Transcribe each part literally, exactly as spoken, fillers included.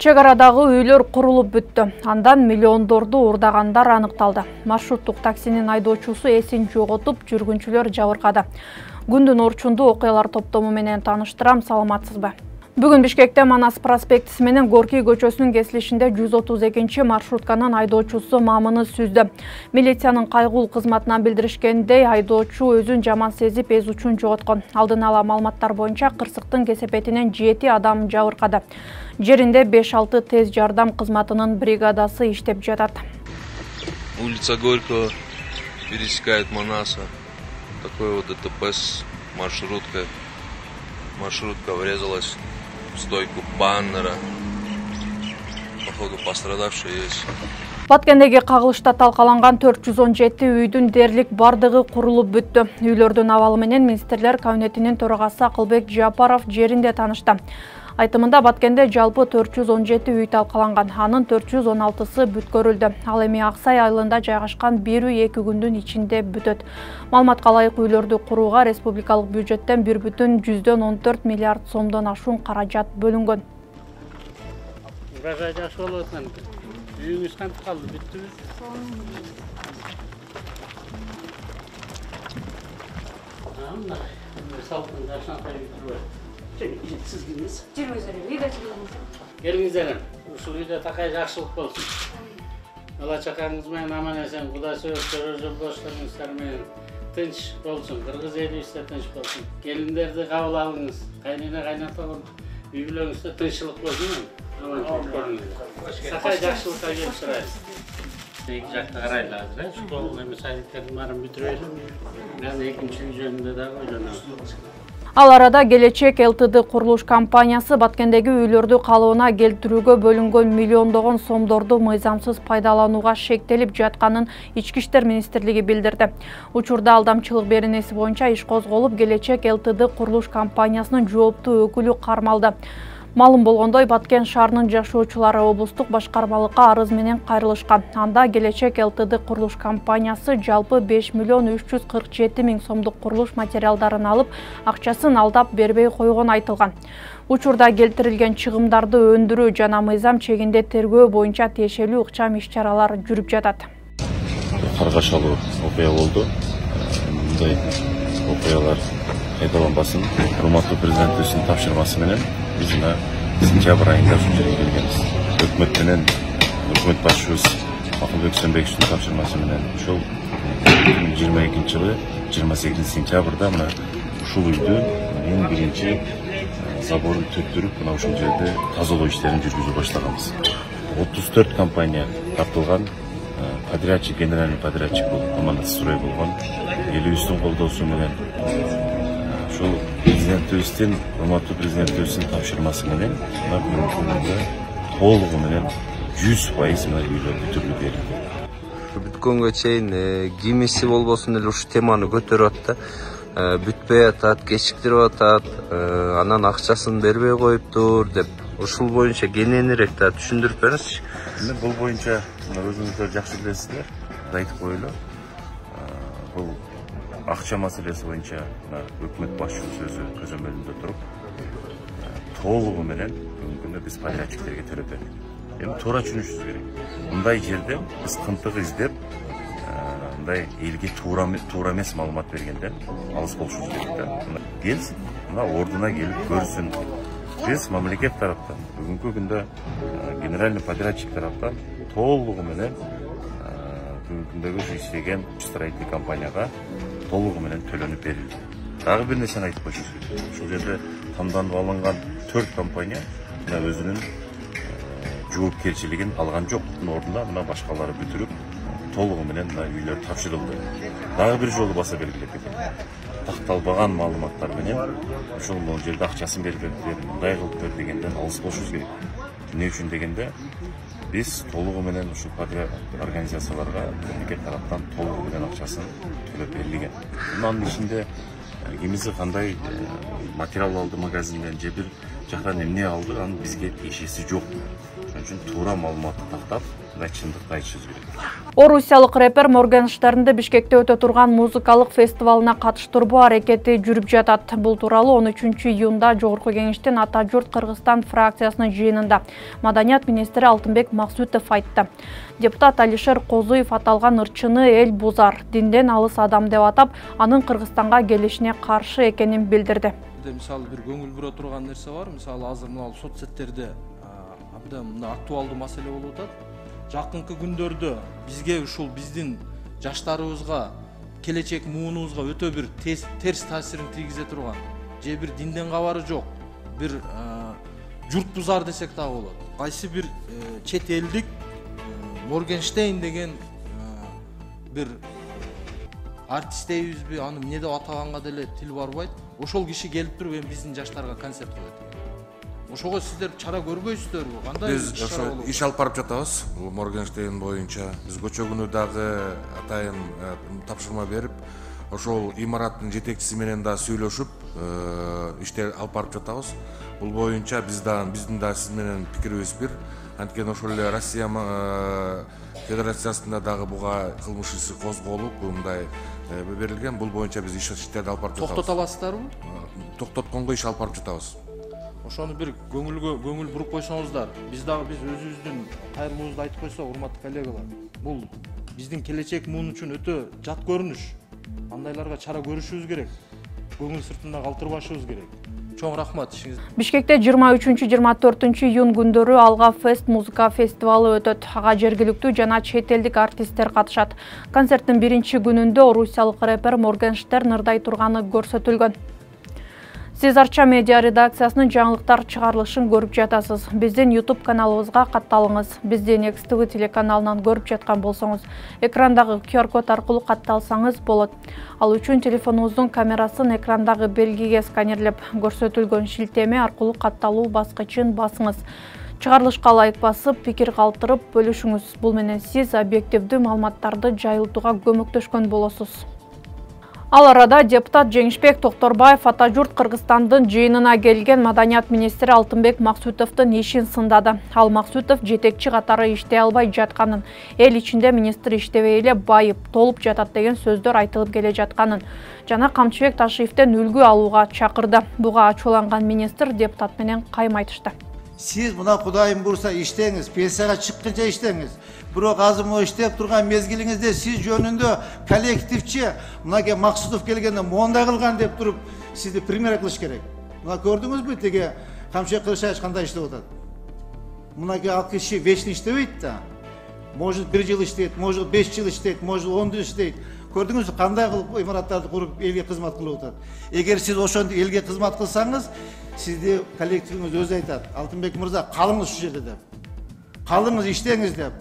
Чек арадагы үйлөр курулуп бүттү. Андан миллиондорду урдагандар аныкталды. Маршруттук таксинин айдоочусу эсин жоготуп, жүргүнчүлөр жабыркады. Күндүн орчунду окуялар топтому менен тааныштырам, саламатсызбы? Бүгүн Бишкекте Манас проспектиси менен Горкий көчөсүнүн кесилишинде жүз отуз экинчи маршрутканын айдоочусу мамыны сүздү. Милициянын кайгылуу кызматынан билдиришкендей, айдоочу өзүн жаман сезип эз учун жоготкон. Алдын ала маалыматтар боюнча кырсыктын кесепетинен жети адам жабыркады. Жеринде беш алты тез жардам кызматынын бригадасы иштеп жатат. Улица Горького пересекает Манаса. Такой вот ДТП с маршруткой. Маршрутка врезалась в стойку баннера. Походу пострадавшие есть. Баткендеги кагылышта талкаланган төрт жүз он жети үйдүн дерлик бардыгы курулуп бүттү. Үйлөрдүн абалы менен министрлер кабинетинин төрагасы Акылбек Жапаров жеринде таанышты. Айтымында Баткенде жалпы төрт жүз он жети үй талкаланган, анын төрт жүз он алтысы бүткөрүлдү. Ал эми Аксай айылында жайгашкан бир үй эки күндүн ичинде бүтөт. Маалыматка ылайык үйлөрдү курууга республикалык бюджеттен бир бүтүн жүздөн он төрт миллиард сомдон ашуун каражат бөлүнгөн. Урожай жакшы болуп аткан. Үйүңүз кантип калды, бүттүбү? Анда, салкын жашантай бүтүрбөй. Siz kimsiniz? Gelingizler. Uşul uyda takay жақшылық болсын. Ала чакаңыз менен аман эсен, Кудай сөз көрөр жолдошторуңуздар менен тынч болсун. Кыргыз элибизде тынч болсун. Келиндерди кабыл алыңыз. Кайнына кайнатаган үй бүлөңүздө тынччылык болсун. Аман көрүңүз. Такай жақшылыкка келип турайбыз. Эки жакта карайлы азыр, школ эми садиктердин баарын бүтүрөйлү. Мен экинчи үй жөнүндө дагы ойлонобуз. Ал арада Келечек ЛТД курулуш компаниясы Баткендеги үйлөрдү калыбына келтирүүгө бөлүнгөн миллиондогон сомдорду мыйзамсыз пайдаланууга шектелип жатканын Ички иштер министрлиги билдирди. Учурда алдамчылык беренеси боюнча иш козголуп, Келечек ЛТД курулуш компаниясынын жооптуу өкүлү кармалды. Малым болгондой, Баткен шаарынын жашоочулары облустук башкармалыкка арыз менен кайрылышкан. Анда Келечек ЛТД курулуш компаниясы жалпы беш миллион үч жүз кырк жети миң сомдук курулуш материалдарын алып, акчасын алдап бербей койгон айтылган. Учурда келтирилген чыгымдарды өндүрүү жана мыйзам чегинде тергөө боюнча тиешелүү ыкчам иш-чаралар жүрүп жатат. Каргашалуу окуя болду. Мындай окуялар кайталанбасын. Урматтуу президентибиздин тапшырмасы менен биз мына сентябрь айында ушул жерге келгенбиз. Өкмөт менен өкмөт башчыбыз Акылбек Сөнбековичтин тапшырмасы менен ошол эки миң жыйырма экинчи жылы жыйырма сегизинчи сентябрда мына ушул үйдү эң биринчи заборун төктүрүп, мына ушул жерде тазалоо иштерин жүргүзүп башлаганбыз. отуз төрт компания тартылган, подрядчик, генеральный подрядчик болуп, Аманатстрой болгон, элибиздин колдоосу менен ушул президентибиздин, урматтуу президентибиздин тапшырмасы менен мына бүгүнкү күндө толугу менен жүз пайыз мына үйлөр бүтүрүлүп берилди. Бүткөнгө чейин кимиси болбосун эле ушул теманы көтөрүп атты. Бүтпөй атат, кечиктирип атат, анан акчасын бербей коюптур деп. Ушул боюнча кененирээк да түшүндүрүп бериңизчи. Мен бул боюнча өзүңүздөр жакшы билесиздер, айтып коелу. Бул акча маселеси боюнча өкмөт башчыбыз өзү көзөмөлүндө туруп, толугу менен бүгүнкү күндө биз подрядчиктерге төлөп бердик. Эми туура түшүнүшүбүз керек. Мындай жерде биз кынтык издеп, мындай элге туура туура эмес маалымат бергенден алыс болушубуз керек да. Келсин, мына ордуна келип көрсүн. Биз мамлекет тараптан бүгүнкү күндө генеральный подрядчик тараптан толугу менен бүгүнкү күндөгү иштеген строительный компанияга толугу менен төлөнүп берилди. Дагы бир нерсени айтып коюшубуз керек. Ушул жерде тандалып алынган төрт компания мына өзүнүн жоопкерчилигин алган жок. Мына ордуна мына башкалары бүтүрүп, толугу менен мына үйлөр тапшырылды. Дагы бир жолу баса белгилеп кетейин. Такталбаган маалыматтар менен ушул могу жерде акчасын бериптер, мындай кылыптыр дегенден алыс болушубуз керек. Эмне үчүн дегенде биз толугу менен ушул организацияларга мамлекет тараптан толугу менен акчасын төлөп берилген. Мунун ичинде кимиси кандай материал алды магазинден же бир жактан эмне алды, анын бизге тиешеси жок. Ошон үчүн туура маалыматты тактап, мына чындыкты айтышыбыз керек. Орусиялык рэпер Моргенштернди Бишкекте өтө турган музыкалык фестивалына катыштырбоо аракети жүрүп жатат. Бул тууралуу он үчүнчү июнда Жогорку Кеңештин Ата журт Кыргызстан фракциясынын жыйынында Маданият министри Алтынбек Максутов айтты. Депутат Алишер Козуев аталган ырчыны эл бузар, динден алыс адам деп атап, анын Кыргызстанга келишине каршы экенин билдирди. Мисалы бир көңүл бура турган нерсе бар. Мисалы азыр мына соцсеттерде абдан актуалдуу маселе болуп атат. Жакынкы күндөрдө бизге ушул биздин жаштарыбызга, келечек муунубузга өтө бир терс таасирин тийгизе турган, же бир динден кабары жок, бир журт бузар десек дагы болот. Кайсы бир чет элдик Моргенштейн деген бир артист дейбизби, аны эмне деп атаганга деле тил барбайт. Ошол киши келип туруп эми биздин жаштарга концерт кылат. Ошого сиздер чара көрбөйсүздөрбү? Кандай биз ошо иш алып барып жатабыз. Бул Моргенштейн боюнча биз көчө күнү дагы атайын тапшырма берип, ошол имараттын жетекчиси менен да сүйлөшүп, иштер алып барып жатабыз. Бул боюнча биз дагы биздин да сиз менен пикирибиз бир. Анткени ошол эле Россия Федерациясында дагы буга кылмыш иши козголуп, мындай берилген. Бул боюнча биз иштерди алып барып жатабыз. Токтото аласыздарбы? Токтотконго иш алып барып жатабыз. Ошону бир көңүлгө көңүл буруп койсоңуздар, биз дагы биз өзүбүздүн кайрылуубузду айтып койсок, урматтуу коллегалар, бул биздин келечек муун үчүн өтө жат көрүнүш. Андайларга чара көрүшүбүз керек. Көңүл сыртында калтырбашыбыз керек. Чоң рахмат ишиңиз. Бишкекте жыйырма үчүнчү жыйырма төртүнчү июнь күндөрү Алга Фест музыка фестивалы өтөт. Ага жергиликтүү жана чет элдик артисттер катышат. Концерттин биринчи күнүндө орусиялык рэпер Моргенштерн ырдай турганы көрсөтүлгөн. Сиз Арча медиа редакциясынын жаңылыктар чыгарылышын көрүп жатасыз. Биздин YouTube каналыбызга катталыңыз. Бизди Next ти ви телеканалынан көрүп жаткан болсоңуз, экрандагы ку ар код аркылуу катталсаңыз болот. Ал үчүн телефонуңуздун камерасын экрандагы белгиге сканерлеп, көрсөтүлгөн шилтеме аркылуу катталуу баскычын басыңыз. Чыгарылышка лайк басып, пикир калтырып бөлүшүңүз. Бул менен сиз объективдүү маалыматтарды жайылтууга көмөктөшкөн болосуз. Ал арада депутат Жеңишбек Токторбаев Ата журт Кыргызстандын жыйынына келген Маданият министри Алтынбек Максутовдун ишин сындады. Ал Максутов жетекчи катары иштей албай жатканын, эл ичинде министр иштебей эле байып, толуп жатат деген сөздөр айтылып келе жатканын жана Камчыбек Ташиевден үлгү алууга чакырды. Буга ачууланган министр депутат менен кайым айтышты. Сиз мына Кудайым бурса иштеңиз, пенсияга чыкканча иштеңиз. Бирок азыр могу иштеп турган мезгилиңизде сиз жөнүндө коллективчи мынаке Максутов келгенде мондай кылган деп туруп сизди пример кылыш керек. Мына көрдүңүзбү теге Камчыбек Кылычбаев кандай иштеп атат? Мынаке ал киши вечно иштебейт да. Может бир жыл иштейт, может беш жыл иштейт, может он жыл иштейт. Көрдүңүзбү кандай кылып имараттарды куруп элге кызмат кылып атат? Эгер сиз ошондой элге кызмат кылсаңыз, сизди коллективиңиз өзү айтат. Алтынбек мырза, калыңыз ушул жерде деп. Калыңыз, иштеңиз деп.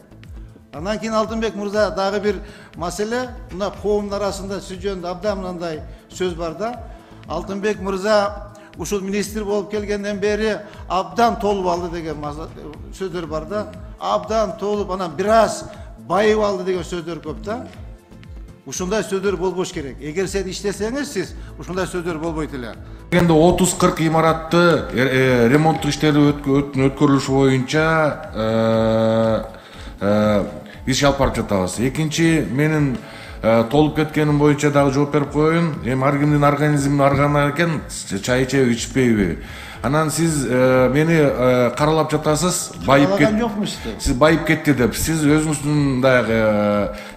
Андан кийин Алтынбек мырза дагы бир маселе, мына коомдун арасында сиз жөнүндө абдан мындай сөз бар да. Алтынбек мырза ушул министр болуп келгенден бери абдан толуп алды деген сөздөр бар да. Абдан толуп, анан бир аз байып алды деген сөздөр көп да. Ушундай сөздөр болбош керек. Эгер сен иштесеңиз, сиз ушундай сөздөр болбойт эле. Эми отуз кырк имаратты ремонттук иштери өткөрүлүшү боюнча иш алып барып жатабыз. Экинчи, менин толуп кеткеним боюнча дагы жооп берип коеюн. Эми ар кимдин организмин арганы экен, чай ичеби, ичпейби. Анан сиз мени каралап жатасыз, байып кетти. Сиз байып кетти деп. Сиз өзүңүздүн дагы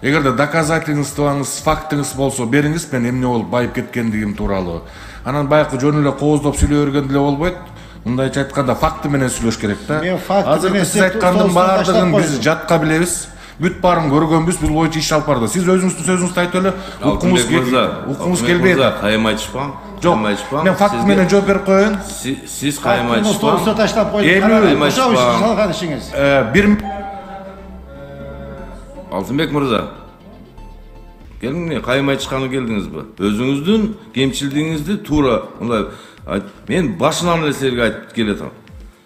эгерде доказательствоңуз, фактыңыз болсо бериңиз, мен эмне болуп байып кеткендигим тууралуу. Анан байкы жөн эле кооздоп сүйлөй берген деле болбойт. Мындайча айтканда факты менен сүйлөш керек да. Азыр сиз айткандын баардыгын биз жатка билебиз. Бүт баарын көргөнбүз, бул боюнча иш алып барды. Сиз өзүңүздүн сөзүңүздү айтып эле, укуңуз келбейт. Кайым айтышпаң. Жок, мен факт менен жооп берип коеюн. Сиз кайым айтышпаң. Столсу таштап коюп, ошо салган ишиңиз. Бир Алтынбек мырза, келиңиз, кайым айтышканы келдиңизби? Өзүңүздүн кемчилдигиңизди туура мындай мен башынан эле силерге айтып келатам.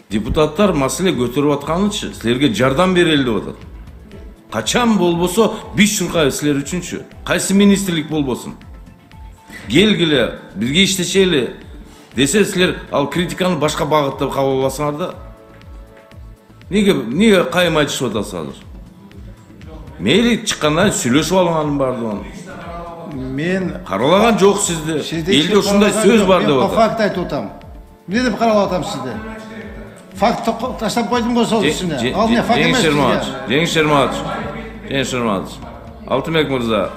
Депутаттар маселе көтөрүп атканычы, силерге жардам берели деп атат. Качан болбосо биз чуркайбыз силер үчүнчү. Кайсы министрлик болбосун. Келгиле, бирге иштешели десе силер ал критиканы башка багытта кабыл аласыңар да. Неге неге кайым айтышып атасыз азыр? мейли чыккандан сүйлөшүп алганын бардыгын. Мен Каралаган жок сизди. Элде ушундай сөз бар деп атат. Факт айтып атам. Эмне деп каралап атам сизди? Факт таштап койдум го сол үстүнө. Ал не факт эмес. Жеңиш Шерматович. Жеңиш Шерматович. Алтынбек мырза.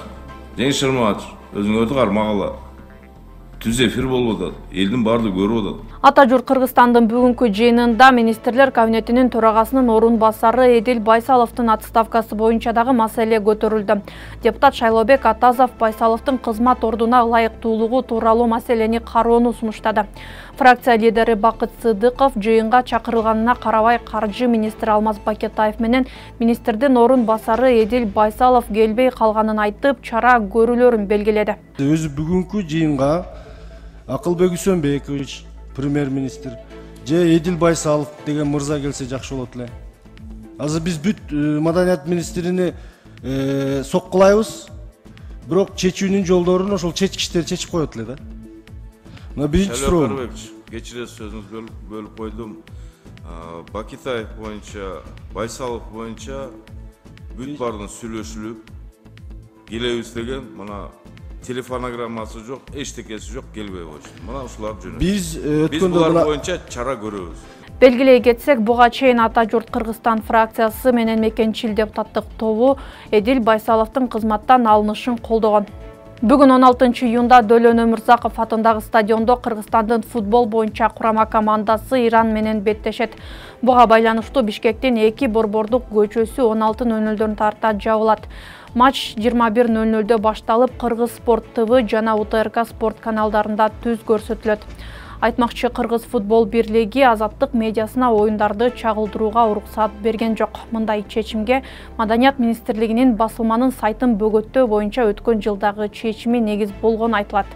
Жеңиш Шерматович. Өзүңөрдү кармагыла. Түз эфир болуп атат. Элдин баардыгы көрүп атат. Ата журт Кыргызстандын бүгүнкү жыйынында министрлер кабинетинин төрагасынын орун басары Эдил Байсаловдун отставкасы боюнча дагы маселе көтөрүлдү. Депутат Шайлообек Атазов Байсаловдун кызмат ордуна ылайыктуулугу тууралуу маселени кароону сунуштады. Фракция лидери Бакыт Сыдыков жыйынга чакырылганына карабай каржы министри Алмаз Бакетаев менен министрдин орун басары Эдил Байсалов келбей калганын айтып, чара көрүүлөрүн белгиледи. Өзү бүгүнкү жыйынга Акылбек Үсөнбекович премьер-министр же Эдил Байсалов деген мырза келсе жакшы болот эле. Азыр биз бүт маданият министрини соккулайбыз, бирок чечүүнүн жолдорун ошол чечкичтер чечип коет эле да. Мына биринчи суроо. Кечиресиз, сөзүңүздү бөлүп койдум. Бакетаев боюнча, Байсалов боюнча бүт бардын сүйлөшүлүп келебиз деген мына телефонограммасы жок, эчтекеси жок, келбей койчу. Мына ушулар жөнүндө. Биз өткөндө булар боюнча чара көрөбүз. Белгилей кетсек, буга чейин Ата журт Кыргызстан фракциясы менен мекенчил депутаттык тобу Эдил Байсаловдун кызматтан алынышын колдогон. Бүгүн он алтынчы июнда Дөлөн Өмүрзаков атындагы стадиондо Кыргызстандын футбол боюнча курама командасы Иран менен беттешет. Буга байланыштуу Бишкектин эки борбордук көчөсү он алты нөл нөлдөн тарта жабылат. Матч жыйырма бир нөл нөлдө башталып, Кыргыз Спорт ТВ жана У Т Р К спорт каналдарында түз көрсөтүлөт. Айтмакчы, Кыргыз футбол бирлиги Азаттык медиасына оюндарды чагылдырууга уруксат берген жок. Мындай чечимге Маданият министрлигинин басылманын сайтын бөгөттөө боюнча өткөн жылдагы чечими негиз болгону айтылат.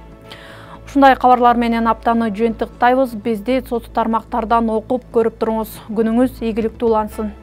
Ушундай кабарлар менен аптаны жыйынтыктайбыз. Бизди соц тармактардан окуп көрүп туруңуз. Күнүңүз ийгиликтүү улансын.